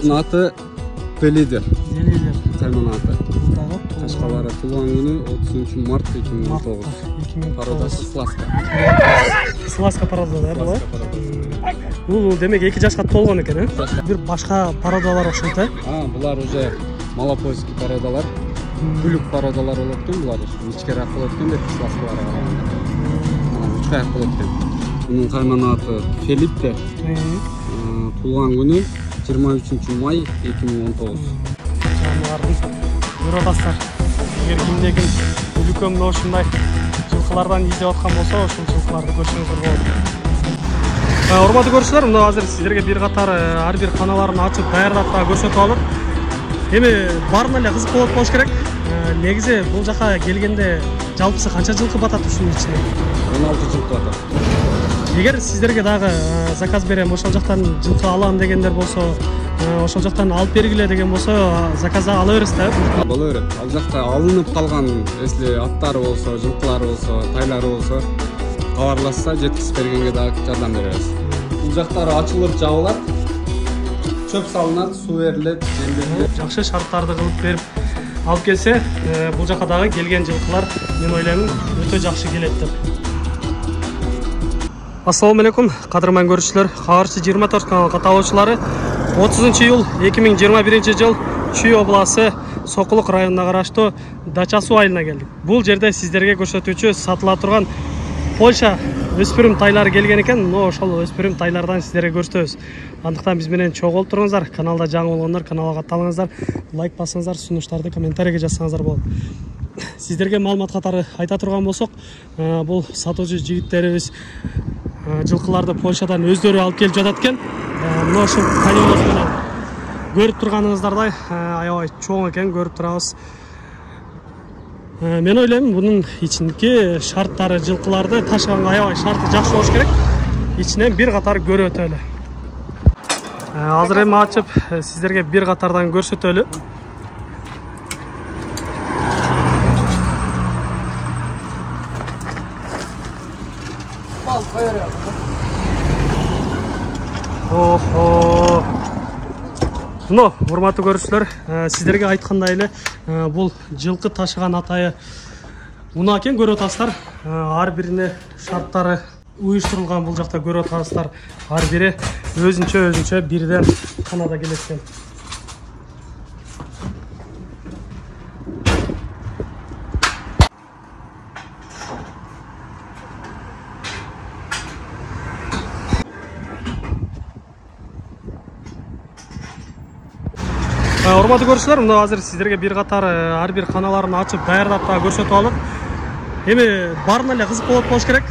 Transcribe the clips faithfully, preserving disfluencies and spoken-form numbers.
Булардын аты Белидер. Белидер. Кайман аты. Булдагы Кашкалары туулган күнү отузунчу март эки миң он тогуз. Пародасы Сласка. Сласка порода да бул? Бул демек эки жашка толгон экен, э? Бир башка породалар окшойт, э? А, булар уже малопольский породалар. Бүлүк породалар болот экен, булар ичкерээк болот экен деп Сласкаларга караганда. Үч аяк болот экен. Мунун кайман аты Фелиппе. Туулган күнү жыйырма үчүнчү май эки миң он тогуз. Жаныбарларды көрүп атасыздар. Эгер кимде ким үлкөн мына ушундай жылкылардан издеп аткан болсо, ошол жылкыларды көрсөңүздөр болот. Урматтуу көрүүчүлөр, мына азыр сиздерге бир катар ар бир каналарын ачып даярдап дагы көрсөтүп алдык. Эми баарына эле кызык болот болуш керек. Негизи бул жака келгенде жалпысы канча жылкы батат ушунун ичине? он алты жылкы батат. Эгер сиздерге дагы заказ берем, ошол жактан жылкы алам дегендер болсо, ошол жактан алып бергиле деген болсо, заказда ала бересиз да? Боло берет. Ал жакта алынып калган, если аттары болсо, жылкылары болсо, тайлары болсо, кабарлашса жеткизип бергенге дагы жардам беребиз. Бул жактары ачылып жабылат, чөп салынат, суу берилет, жем берилет. Жакшы шарттарды кылып берип алып келсе, бул жака дагы келген жылкылар мен ойлойм өтө жакшы келет деп. Ассаламу алейкум, кадырман көрүүчүлөр. Кабарчы жыйырма төрт канал каталоочулары. отузунчу июль эки миң жыйырма биринчи жыл Чүй областы Сокулук районуна караштуу Дачасу айылына келдик. Бул жерде сиздерге көрсөтүүчү сатыла турган Польша өспүрүм тайлары келген экен. Но ошол өспүрүм тайлардан сиздерге көрсөтөбүз. Андыктан биз менен чогуу болуп туруңуздар. Каналда жаңы болгондор каналга катталыңыздар, лайк басыңыздар, сунуштарды комментарийге жазсаңыздар болот. Сиздерге маалымат катары айта турган болсок, бул сатуучу жигиттерибиз жылкыларды Польшадан өздөрү алып келип жатат экен. Мына ушул каналыбыз менен көрүп турганыңыздардай аябай чоң экен, көрүп турабыз. Мен ойлойм, бунун ичинки шарттары жылкыларды ташыганга аябай шарты жакшы болуш керек. Ичинен бир катар көрүп өтөлү. Азыр эми ачып сиздерге бир катардан көрсөтөлү. Охо. Ну, урматтуу көрүүчүлөр, сиздерге айткандай эле бул жылкы ташыган атайы унаа экен, көрүп атасыздар. Ар бирине шарттары уюштурулган, бул жакта көрүп атасыздар. Ар бири өзүнчө өзүнчө бирден канада келет экен. Урматтуу көрүүчүлөр, мына азыр сиздерге бир катар ар бир каналарын ачып даярдап дагы көрсөтүп алдык. Эми баарына эле кызык болот болуш керек.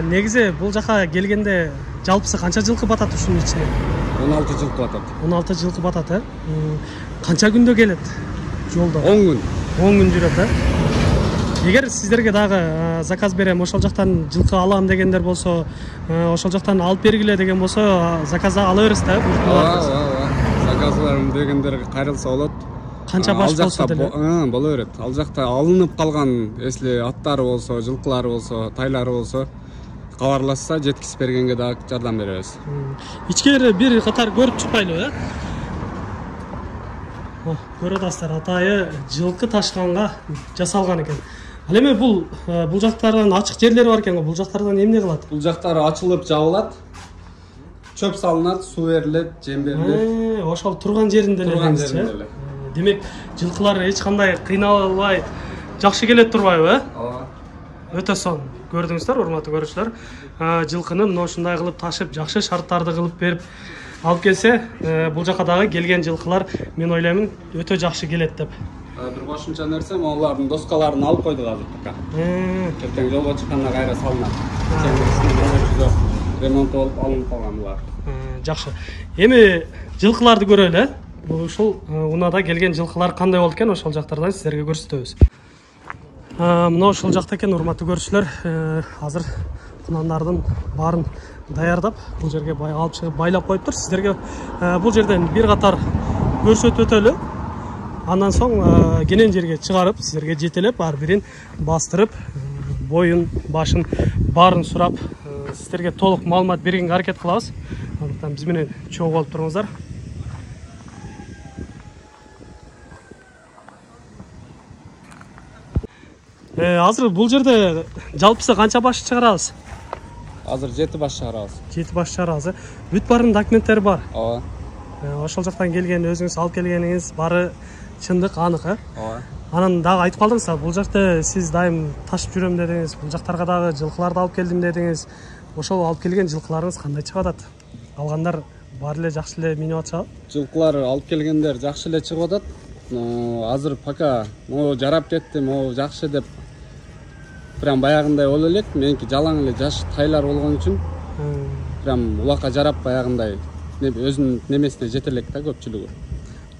Негизи бул жака келгенде жалпысы канча жылкы батат ушунун ичине? он алты жылкы батат. он алты жылкы батат, э? Канча күндө келет жолдо? он күн. он күн жүрөт, э? Эгер сиздерге дагы заказ берем, ошол жактан жылкы алам дегендер болсо, ошол жактан алып бергиле деген болсо, заказда ала бересиз да? Заказларым дегендер кайрылса болот. Канча баш болсо деле? Боло берет. Ал жакта алынып калган, если аттары болсо, жылкылары болсо, тайлары болсо, кабарлашса жеткизип бергенге дагы жардам беребиз. Ичкери бир катар көрүп чыкпайлыбы, э? Көрүп атасыздар, атайы жылкы ташыганга жасалган экен. Ал эми бул бул жактардан ачык жерлери бар экен, бул жактардан эмне кылат? Бул жактары ачылып жабылат. Чөп салынат, суу берилет, жем берилет. Ошол турган жеринде эле. Турган жеринде эле. Демек, жылкылар эч кандай кыйналбай жакшы келет турбайбы, э? Ооба. Өтө сонун. Көрдүңүздөр, урматтуу көрүүчүлөр. Жылкыны мына ушундай кылып ташып, жакшы шарттарды кылып берип алып келсе, бул жака дагы келген жылкылар мен ойлойм өтө жакшы келет деп. Бир кошумча нерсе, алардын доскаларын алып койдук азыр пока. Эртең жолго чыкканда кайра салынат. Ремонт болуп алынып калган булар. Жакшы. Эми жылкыларды көрөлү, э? Ушул унаада келген жылкылар кандай болот экен, ошол жактардан сиздерге көрсөтөбүз. Мына ушул жакта экен, урматтуу көрүүчүлөр. Азыр кунандардын баарын даярдап, бул жерге алып чыгып байлап коюптур. Сиздерге бул жерден бир катар көрсөтүп өтөлү. Андан соң кенен жерге чыгарып, сиздерге жетелеп, ар бирин бастырып, боюн, башын баарын сурап, сиздерге толук маалымат бергенге аракет кылабыз. Андыктан биз менен чогуу болуп туруңуздар. азыр бул жерде жалпысы канча баш чыгарабыз? Азыр жети баш чыгарабыз. жети баш чыгарабыз. Бүт баарынын документтери бар. Ооба. Ошол жактан келген, өзүңүз алып келгениңиз баары чындык, анык, э? Ооба. Анан дагы айтып калдыңыз, бул жакта сиз дайым ташып жүрөм дедиңиз, бул жактарга дагы жылкыларды алып келдим дедиңиз. Ошол алып келген жылкыларыңыз кандай чыгып атат? Алгандар баары эле жакшы эле минип атышабы? Жылкылар алып келгендер жакшы эле чыгып атат. Азыр пока могу жарап кетти, могу жакшы деп прям баягындай боло элек. Меники жалаң эле жаш тайлар болгон үчүн прям улакка жарап баягындай өзүнүн немесине жете элек да көпчүлүгү.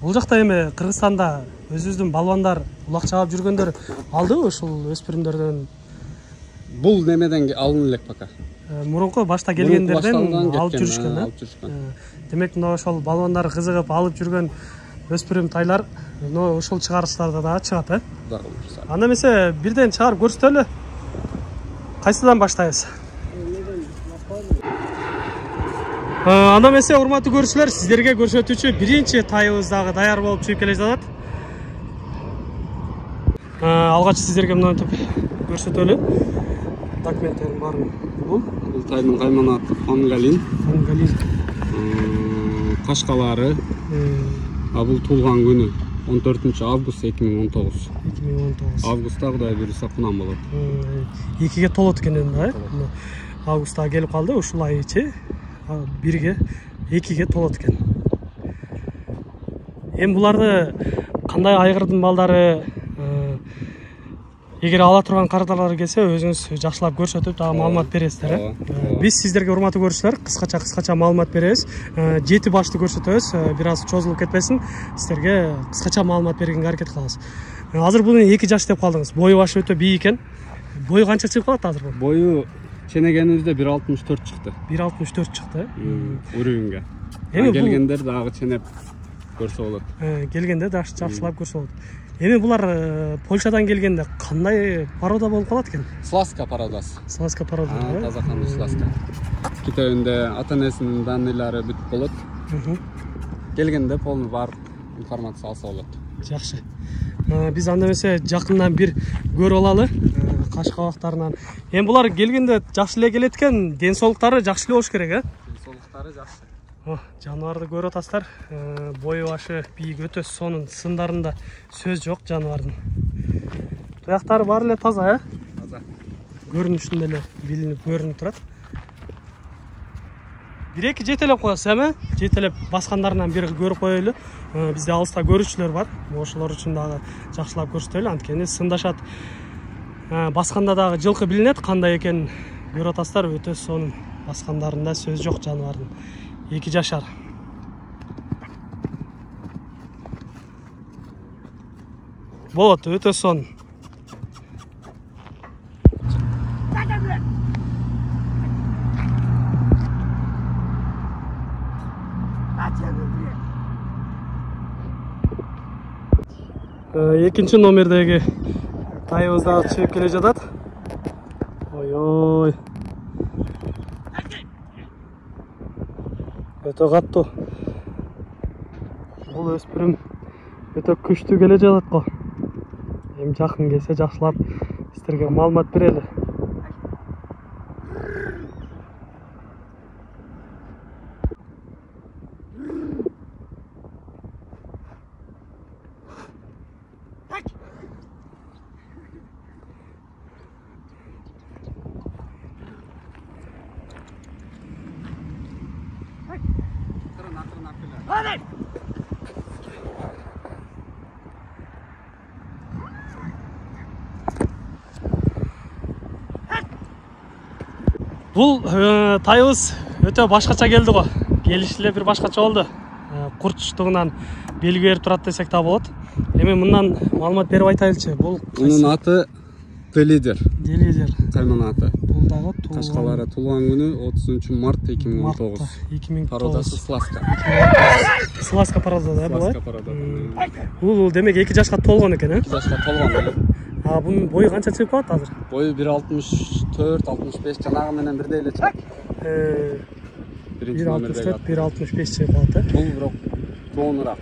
Бул жакта эми Кыргызстанда өзүбүздүн балбандар улак чаап жүргөндөр алдыбы ушул өспүрүмдөрдөн? Бул немеден алын элек пока. Мурунку башта келгендерден алып жүрүшкөн, алып жүрүшкөн. Демек, мына ошол балбандар кызыгып алып жүргөн өспүрүм тайлар ошол чыгарыштарда дагы чыгат, э? Кудай кылса. Анда эмесе бирден чыгарып көрсөтөлү. Кайсыдан баштайбыз? Анда эмесе, урматтуу көрүүчүлөр, сиздерге көрсөтүүчү биринчи тайыбыз дагы даяр болуп чыгып келе жатат. Алгач сиздерге мынтип көрсөтөлү. Документтердин баарын. Бул бул тайдын кайманаты Фангалин. Фангалин. Кашкалары. А бул туулган күнү он төртүнчү август эки миң он тогуз. эки миң он тогуз. Августта Кудай буйруса кунам болот. экиге толот экен да, э? Августта келип калды, ушул ай ичи бирге, экиге толот экен. Эми буларды кандай айгырдын балдары, эгер ала турган карадалар келсе, өзүңүз жакшылап көрсөтүп, дагы маалымат бересиздер, э? Биз сиздерге, урматтуу көрүүчүлөр, кыскача кыскача маалымат беребиз. жети башты көрсөтөбүз, бир аз чозулуп кетпесин, сиздерге кыскача маалымат бергенге аракет кылабыз. Азыр бул эки жаш деп калдыңыз. Бою башы өтө бийик экен. Бою канча чыгып калат азыр бул? Бою ченегенибизде бир алтымыш төрт чыкты. бир алтымыш төрт чыкты, э? Урүүнгө. Эми келгендер дагы ченеп көрсө болот. Келгенде дагы жакшылап көрсө болот. Эми булар Польшадан келгенде кандай порода болуп калат экен? Сласка породасы. Сласка порода, э? Таза кандуу сласка. Китебинде ата-энесинин данныйлары бүт болот. Келгенде полный бар информация алса болот. Жакшы. Биз анда эмесе жакындан бир көрүп алалы каш кабактарынан. Эми булар келгенде жакшы эле келет экен, ден соолуктары жакшы эле болуш керек, э? Ден соолуктары жакшы. Жаныбарды көрүп атасыздар. Бою башы бийик, өтө сонун, сындарында сөз жок жаныбардын. Туяктары баары эле таза, э? Таза. Көрүнүшүндө эле билинип, көрүнүп турат. Бир эки жетелеп коесуз, эми? Жетелеп баскандарынан бири көрүп коелу. Бизде алыста көрүүчүлөр бар. Ошолор үчүн дагы жакшылап көрсөтөлү, анткени сындашат. Басканда дагы жылкы билинет, кандай экенин көрүп атасыздар, өтө сонун. Баскандарында сөз жок жаныбардын. эки жашар. Болот, өтө сонун. Экинчи номердеги тайыбыз дагы чыгып келе жатат. Ой-ой. Өтө каттуу. Бул өспүрүм өтө күчтүү келе жатат го. Эми жакын келсе жакшылап сиздерге маалымат берели. Бул тайыбыз өтө башкача келди го. Келиш эле бир башкача болду. Курчтугунан белги берип турат десек да болот. Эми мындан маалымат берип айтайлычы. Бул мунун аты Делидер. Делидер. Кайманаты. Бул дагы Кашкалары туулган күнү отузунчу март эки миң он тогуз. эки миң он тогуз. Породасы Сласка. Сласка порода да, бул? Сласка порода. Бул демек эки жашка толгон экен, э? эки жашка толгон. А бунун бою канча чыгып калат азыр? Бою бир алтымыш төрт алтымыш беш жанагы менен бирдей эле чыгат. Э, бир алтымыш төрт бир алтымыш беш чыгып калат, э? Бул бирок жоонураак.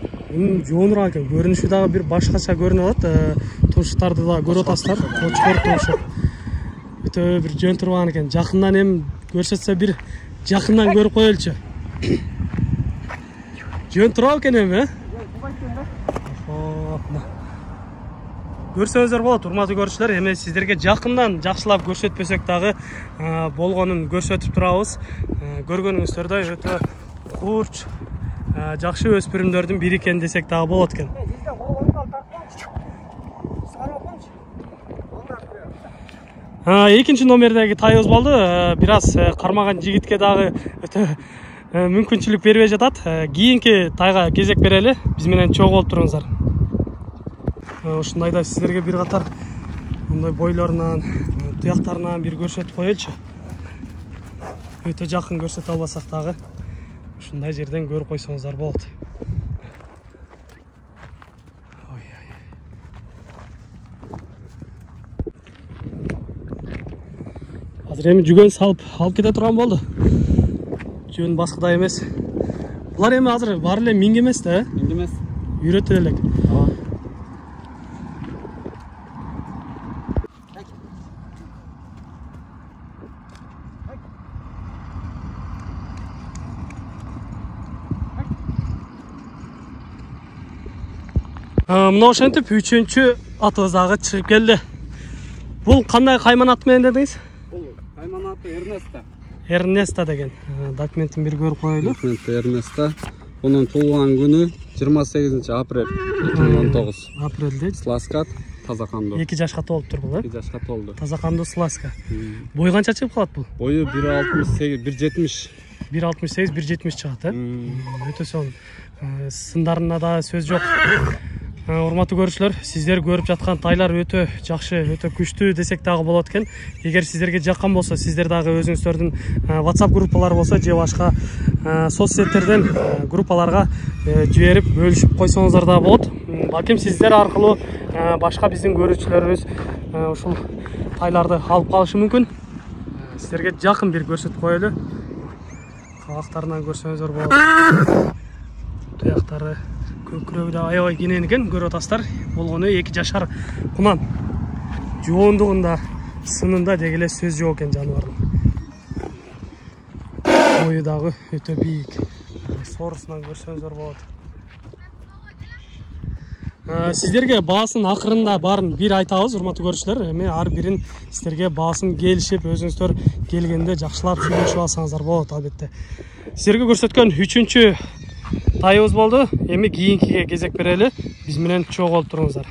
Жоонураак экен. Көрүнүшү дагы бир башкача көрүнүп атат. тумшуктарды да көрүп атасыздар. Кочкор тумшук. Өтө бир жөн турган экен. Жакындан эми көрсөтсө бир жакындан көрүп коелучу. Жөн турабы экен эми, э? Көрсөңүздөр болот, урматтуу көрүүчүлөр. Эми сиздерге жакындан жакшылап көрсөтпөсөк дагы болгонун көрсөтүп турабыз. Көргөнүңүздөрдөй өтө курч, жакшы өспүрүмдөрдүн бири экен десек дагы болот экен. Экинчи номердеги тайыбыз болду. Бир аз кармаган жигитке дагы өтө мүмкүнчүлүк бербей жатат. Кийинки тайга кезек берели. Биз менен чогуу болуп туруңуздар. Ушундайда сиздерге бир катар мындай бойлорунан, туяктарынан бир көрсөтүп коелучу. Өтө жакын көрсөтө албасак дагы ушундай жерден көрүп койсоңуздар болот. Азыр эми жүгөн салып алып кете турган болду. Жөн башкыдай эмес. Булар эми азыр баары эле минге эмес да, э? Минге эмес. Үйрөтүп элек. Мына ошентип үчүнчү атыбыз дагы чыгып келди. Бул кандай кайман ат менен дедиңиз? Бул кайман аты Эрнеста. Эрнеста деген. Документин бир көрүп коелу. Документ Эрнеста. Онун туулган күнү жыйырма сегизинчи апрель эки миң он тогуз. Апрелде. Сласка, таза кандуу. эки жашка толуптур бул, э? эки жашка толду. Таза кандуу сласка. Бою канча чыгып калат бул? Бою бир алтымыш сегиз, бир жетимиш. бир алтымыш сегиз, бир жетимиш чыгат, э? Өтө сонун. Сындарына да сөз жок. Урматтуу көрүүчүлөр, сиздер көрүп жаткан тайлар өтө жакшы, өтө күчтүү десек дагы болот экен. Эгер сиздерге жаккан болсо, сиздер дагы өзүңүздөрдүн WhatsApp группалары болсо, же башка соц сеттерден группаларга жиберип бөлүшүп койсоңуздар да болот. Балким сиздер аркылуу башка биздин көрүүчүлөрүбүз ушул тайларды алып калышы мүмкүн. Сиздерге жакын бир көрсөтүп коелу. Кабактарынан көрсөңүздөр болот. Туяктары көкүрөгү да аябай кенен экен, көрүп атасыздар. Болгону эки жашар кунан. Жоондугунда, сынында деги эле сөз жок экен жаныбардын. Бою дагы өтө бийик. Соорусунан көрсөңүздөр болот. Сиздерге баасын акырында баарын бир айтабыз, урматтуу көрүүчүлөр. Эми ар бирин сиздерге баасын келишип, өзүңүздөр келгенде жакшылап сүйлөшүп алсаңыздар болот, албетте. Сиздерге көрсөткөн үчүнчү тайыбыз болду. Эми кийинкиге кезек берели. Биз менен чогуу болуп туруңуздар.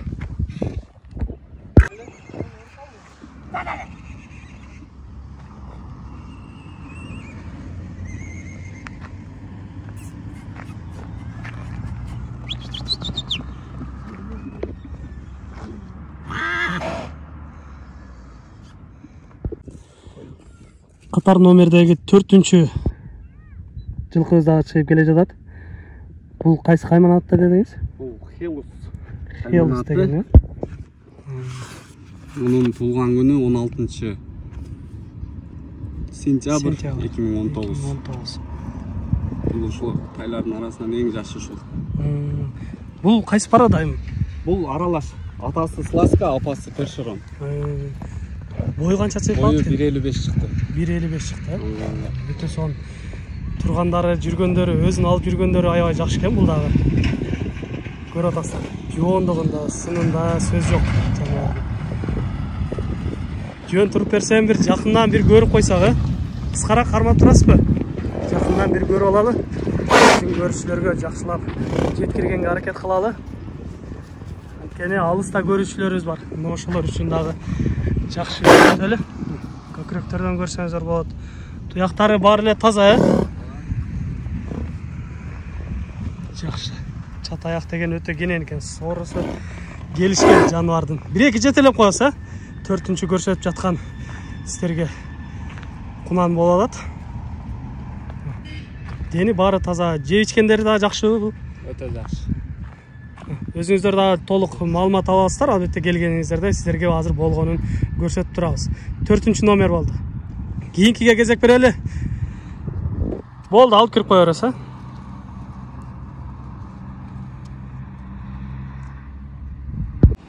Катар номердеги төртүнчү жылкыбыз дагы чыгып келе жатат. Бул кайсы кайман атта дедиңиз? Бул Хелус. Хелус деген, э? Мунун туулган күнү он алтынчы сентябрь эки миң он тогуз. Бул ушул тайлардын арасынан эң жашы ушул. Бул кайсы парада эми? Бул аралаш. Атасы Сласка, апасы Першерон. Бою канча чыгып калды? Бою бир элүү беш чыкты. бир элүү беш чыкты, э? Өтө сонун. Тургандары, жүргөндөрү, өзүн алып жүргөндөрү аябай жакшы экен бул дагы. Көрүп атасыздар. Жоондугунда, сынында сөз жок. Жөн туруп берсем бир жакындан бир көрүп койсак, э? Кыскараак кармап турасызбы? Жакындан бир көрүп алалы. Биздин көрүүчүлөргө жакшылап жеткиргенге аракет кылалы. Анткени алыста көрүүчүлөрүбүз бар. Мына ошолор үчүн дагы жакшы көрсөтөлү. Көкүрөктөрдөн көрсөңүздөр болот. Туяктары баары эле таза, э? Жакшы. Чат аяк деген өтө кенен экен. Соорусу келишкен жаныбардын. бир эки жетелеп коебуз, э? төртүнчү көрсөтүп жаткан сиздерге кунан боло алат. Дени баары таза. Жеп ичкендери дагы жакшыбы? Өтө жакшы. Өзүңүздөр дагы толук маалымат аласыздар. Албетте келгениңиздерде сиздерге азыр болгонун көрсөтүп турабыз. төртүнчү номер болду. Кийинкиге кезек берели. Болду, алып кирип кое бересиз, э?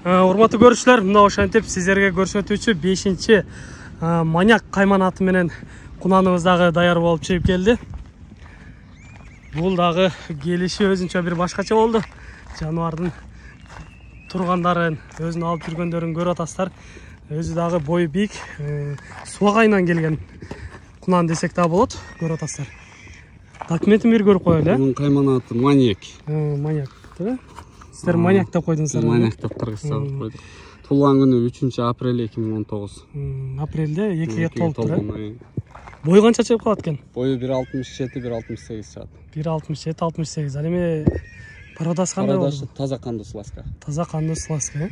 Урматтуу көрүүчүлөр, мына ошентип сиздерге көрсөтүүчү бешинчи маньяк кайман аты менен кунаныбыз дагы даяр болуп чыгып келди. Бул дагы келиши өзүнчө бир башкача болду. Жаныбардын тургандарын, өзүн алып жүргөндөрүн көрүп атасыздар. Өзү дагы бою бийик, суак айынан келген кунан десек дагы болот, көрүп атасыздар. Документин бир көрүп коелу, э? Мунун кайман аты Маньяк. Маньяк, э? Сиздер маньяк деп койдуңуздар. Маньяк деп кыргызчалап койдук. Туулган күнү үчүнчү апрель эки миң он тогуз. Апрелде экиге толуптур, э? Бою канча чыгып калат экен? Бою бир алтымыш жети, бир алтымыш сегиз чыгат. бир алтымыш жети, алтымыш сегиз. Ал эми пародасы кандай болду? Пародасы таза кандуу сласка. Таза кандуу сласка, э?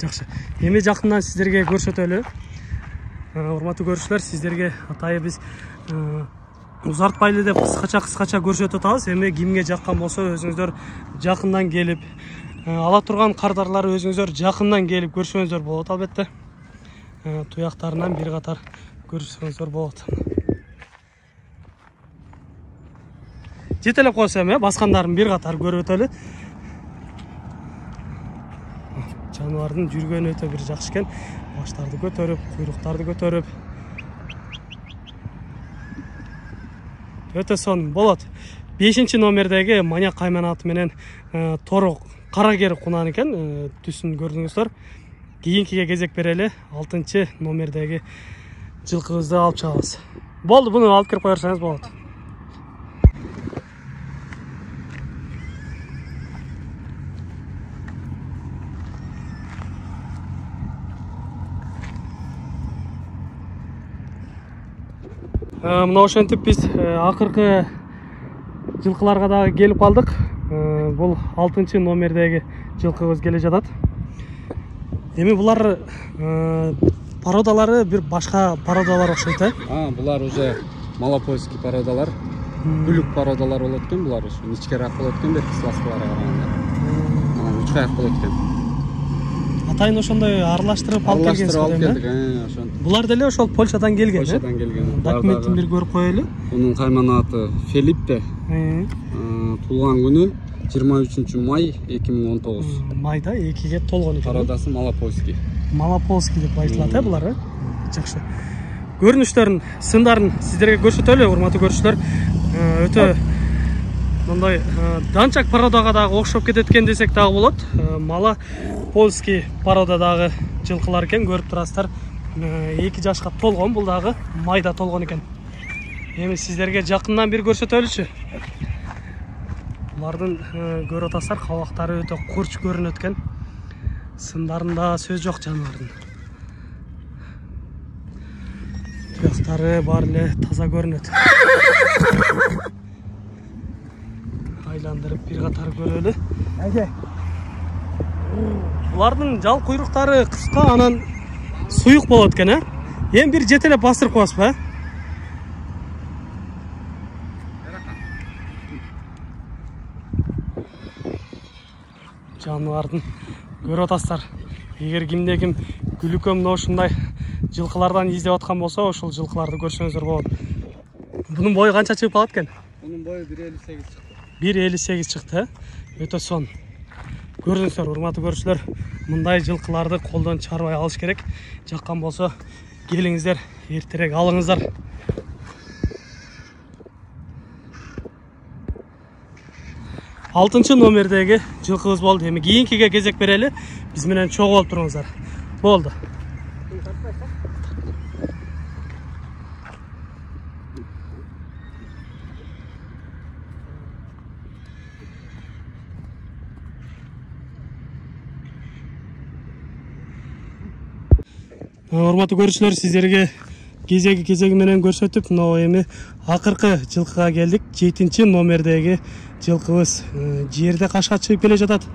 Жакшы. Эми жакындан сиздерге көрсөтөлү. Урматтуу көрүүчүлөр, сиздерге атайы биз узартпайлы деп кыскача-кыскача көрсөтүп атабыз. Эми кимге жаккан болсо өзүңүздөр жакындан келип, ала турган кардарлары өзүңүздөр жакындан келип көрсөңүздөр болот албетте. Туяктарынан бир катар көрсөңүздөр болот. Жетелеп койсом, э, баскандарын бир катар көрүп өтөлү. Жаныбардын жүргөнү өтө бир жакшы экен. Баштарды көтөрүп, куйруктарды көтөрүп. Өтө сонун болот. бешинчи номердеги маньяк кайман аты менен торо карагер кунан экен, түсүн көрдүңүздөр. Кийинкиге кезек берели, алтынчы номердеги жылкыбызды алып чыгабыз. Болду, буну алып кирип коерсаңыз болот. Мына ошентип биз акыркы жылкыларга дагы келип калдык. Бул алтынчы номердеги жылкыбыз келе жатат. Эми булар пародалары бир башка пародалар окшойт, э? А, булар уже малопольский пародалар. Бүлүк пародалар болот экен, булар ушу ичкерээк болот экен, берки сласкаларга караганда. Анан үч аяк болот экен. Атайын ошондой аралаштырып алып келгенсиз го, э? Ошентип. Булар деле ошол Польшадан келген, э? Польшадан келген. Документин бир көрүп коелу. Мунун кайман аты Фелиппе. Туулган күнү жыйырма үчүнчү май эки миң он тогуз. Майда экиге толгон экен. Пародасы малопольский. Малопольский деп айтылат, э, булар, э? Жакшы. Көрүнүштөрүн, сындарын сиздерге көрсөтөлү, урматтуу көрүүчүлөр. Өтө мындай данчак пародага дагы окшоп кетет экен десек дагы болот. Малопольский парода дагы жылкылар экен, көрүп турасыздар. эки жашка толгон, бул дагы майда толгон экен. Эми сиздерге жакындан бир көрсөтөлүчү. Булардын көрүп атасыздар, кабактары өтө курч көрүнөт экен. Сындарында сөз жок жаныбардын. Туяктары баары эле таза көрүнөт. Айландырып бир катар көрөлү. Булардын жал куйруктары кыска, анан суюк болот экен, э? Эми бир жетелеп бастырып коесузбу, э? Жаныбардын көрүп атасыздар. Эгер кимде ким күлүккө мына ушундай жылкылардан издеп аткан болсо, ошол жылкыларды көрсөңүздөр болот. Бунун бою канча чыгып калат экен? Бунун бою бир элүү сегиз чыкты. бир элүү сегиз чыкты, э? Өтө сонун. Көрдүңүздөр, урматтуу көрүүчүлөр, мындай жылкыларды колдон чыгарбай алыш керек. Жаккан болсо, келиңиздер, эртерээк алыңыздар. алтынчы номердеги жылкыбыз болду. Эми кийинкиге кезек берели. Биз менен чогуу болуп туруңуздар. Болду. Урматтуу көрүүчүлөр, сиздерге кезеги кезеги менен көрсөтүп, мына эми акыркы жылкыга келдик. жетинчи номердеги жылкыбыз жерде кашка чыгып келе жатат.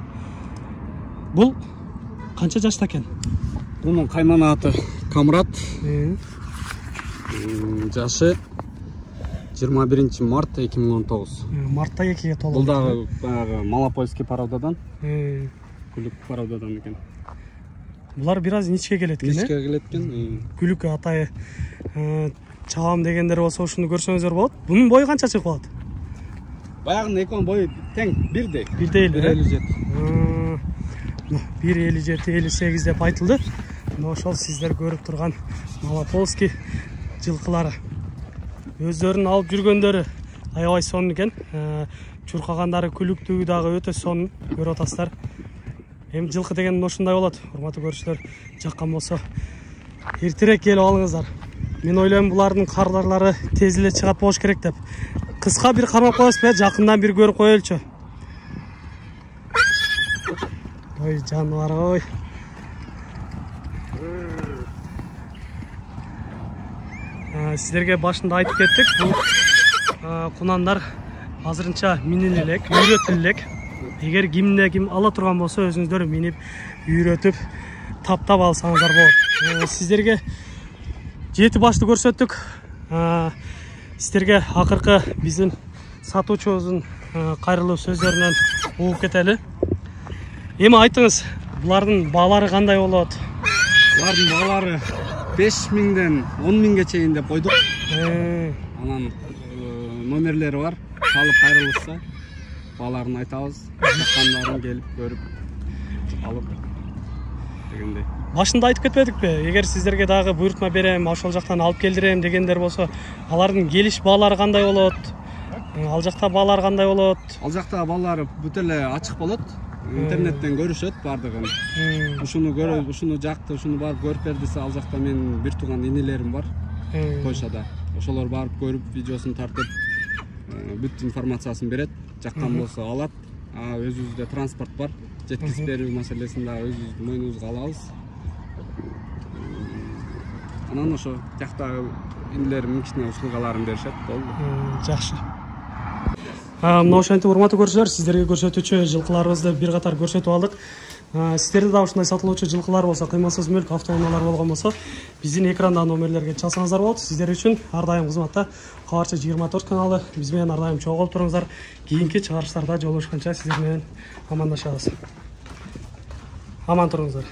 Бул канча жашта экен? Мунун кайман аты Камрат. Жашы жыйырма биринчи март эки миң он тогуз. Мартта экиге толду. Бул дагы баягы малопольский пародадан, күлүк пародадан экен. Булар бир аз ичке келет экен, э? Ичке келет экен. Күлүк атайы чабам дегендер болсо ушуну көрсөңүздөр болот. Бунун бою канча чыгып калат? Баягынын экөөнүн бою тең, бирдей. Бирдей эле. бир элүү жети. бир элүү жети элүү сегиз деп айтылды. Мына ошол сиздер көрүп турган Малополский жылкылары. Өздөрүнүн алып жүргөндөрү аябай сонун экен. Чуркагандары күлүктүү дагы өтө сонун көрүп атасыздар. Эми жылкы деген ушундай болот. Урматтуу көрүүчүлөр, жаккан болсо эртерээк келип алыңыздар. Мен ойлойм булардын карларлары тез эле чыгат болуш керек деп. Кыска бир кармап коесузбу, жакындан бир көрүп коелучу. Ой, жаныбар ой. Сиздерге башында айтып кеттик, бул кунандар азырынча миниле элек, үйрөтүлө элек. Эгер кимде ким ала турган болсо, өзүңүздөр минип, үйрөтүп, таптап алсаңыздар болот. Сиздерге жети башты көрсөттүк. Сиздерге акыркы биздин сатуучубуздун кайрылуу сөздөрүнөн угуп кетели. Эми айтыңыз, булардын баалары кандай болот? Булардын баалары беш миңден он миңге чейин деп койдук. Анан номерлери бар. Калып кайрылышса, бааларын айтабыз. Жаккандарын келип көрүп алып дегендей. Башында айтып кетпедикпи? Эгер сиздерге дагы буйртма берем, ошол жактан алып келдирем дегендер болсо, алардын келиш баалары кандай болот? Ал жакта баалар кандай болот? Ал жакта баалар бүт эле ачык болот. Интернеттен көрүшөт бардыгын. Ушуну көрөп, ушуну жакты, ушуну барып көрүп бер десе, ал жакта менин бир тууган инелерим бар. Польшада. Ошолор барып көрүп, видеосун тартып, бүт информациясын берет. Жаккан болсо алат. А өзүбүздө транспорт бар. Жеткизип берүү маселесин да өзүбүздүн мойнубузга алабыз. Анан ошо жактагы инелерим кичине услугаларын беришет. Болду. Жакшы. Мына ошентип урматтуу көрүүчүлөр, сиздерге көрсөтүүчү жылкыларыбызды бир катар көрсөтүп алдык. Сиздерде да ушундай сатылуучу жылкылар болсо, кыймылсыз мүлк автоунаалар болгон болсо, биздин экрандагы номерлерге чалсаңыздар болот. Сиздер үчүн ар дайым кызматта Кабарчы жыйырма төрт каналы. Биз менен ар дайым чогулуп туруңуздар. Кийинки чыгарыштарда жолугушканча сиздер менен амандашабыз. Аман туруңуздар.